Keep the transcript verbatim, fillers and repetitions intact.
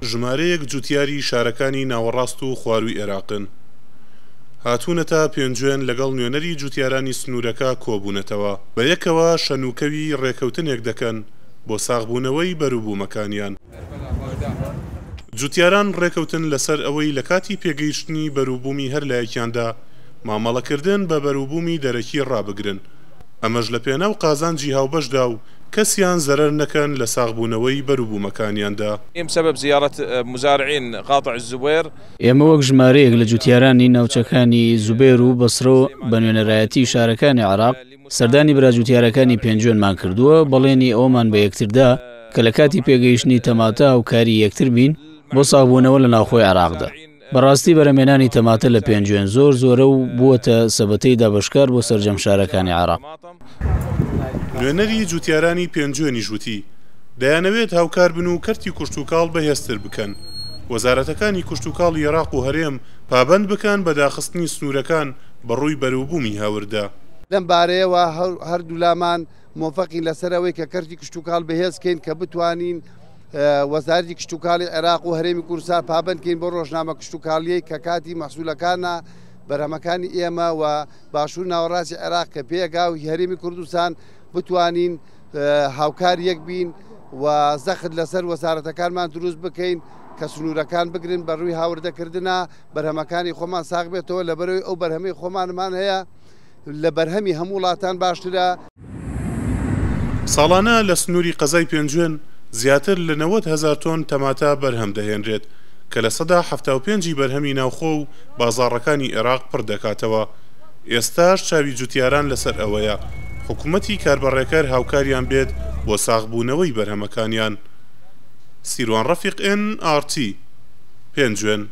ژمارەیەک جوتیاری شارەکانی ناوەڕاست و خوارووی عێراقن هاتوونەتە پێنجوێن لەگەڵ نوێنەری جوتیارانی سنوورەکە کۆبوونەتەوە، بەیەکەوە شەنوکەوی ڕێکەوتنێک دەکەن بۆ ساغبوونەوەی بەروبوومەکانیان. جوتیاران ڕێکەوتن لەسەر ئەوەی لە کاتی پێگەیشتنی بەروبوومی هەر لایەکیاندا مامەڵەکردن بە بەروبوومی دەرەکی ڕابگرن، ئەمەش لە پێناو قازانجی هاوبەشدا و کەسیان زەرەر نەکەن لە ساغبوونەوەی بەروبوومەکانیاندا. بسبب زیارة مزارعين قاطع الزبير ئێمە وەک ژمارەیەک لە جوتیارانی ناوچەکانی زوبێر و بەسرە بە نوێنەرایەتی شارەکانی عێراق سەردانی برا جوتیارەکانی پێنجوێنمان کردووە، بەڵێنی ئەومان بە یەکتردا کە لە کاتی پێگەیشتنی تەماتە هاوکاری یەکتر بین بۆ ساغبوونەوە لە ناوخۆی عێراقدا. بەڕاستی بەرەمێنانی تەماتە لە پێنجوێن زۆر زۆرە و بووەتە سەبەتەی دابەشکار بۆ سەرجەم شارەکانی عێراق. نوێنەری جوتیارانی پێنجوێنیش وتی دەیانەوێت هاوکار بن و کەرتی کشتوکاڵ بەهێزتر بکەن، وەزارەتەکانی کشتوکاڵی عێراق و هەرێم پابەند بکەن بە داخستنی سنوورەکان بەڕووی بەروبوومی هاوردە. لەم بارەیەوە هەردوو لامان مۆفەقین لەسەر ئەوەی کە کەرتی کشتوکاڵ بەهێزکەین کە بتوانین وەزارەتی کشتوکاڵی عێراق و هەرێمی کوردستان پابەندکەین بۆ ڕۆژنامە کشتوکاڵیەی کە کاتی مەحسوولەکانە بەرهەمەکانی ئێمە و باشوور ناوەڕاستی عێراق کە پێگا و هەرێمی کوردستان بتوانین هاوکار یەک بین و زەخت لەسەر وەزارەتەکانمان دروست بکەین کە سنوورەکان بگرن بە ڕووی هاوردەکردنە بەرهەمەکانی خۆمان ساغ بێتەوە، لەبەرەوەی ئەو بەرهەمەی خۆمانمان هەیە لە بەرهەمی هەموو وڵاتان باشترە. ساڵانە لە سنووری قەزای پێنجوێن زیاتر لە نەوەد هەزار تۆن تەماتە بەرهەم دەهێنرێت کە لە سەدا حەفتا و پێنجی بەرهەمی ناوخۆ و بازاڕەکانی عێراق پڕ دەکاتەوە. ئێستاش چاوی جوتیاران لەسەر ئەوەیە حکوومەتی کاربەڕێکەر هاوکاریان بێت بۆ ساغبوونەوەی بەرهەمەکانیان. سیروان ڕەفیق، ئێن ئاڕ تی، پێنجوێن.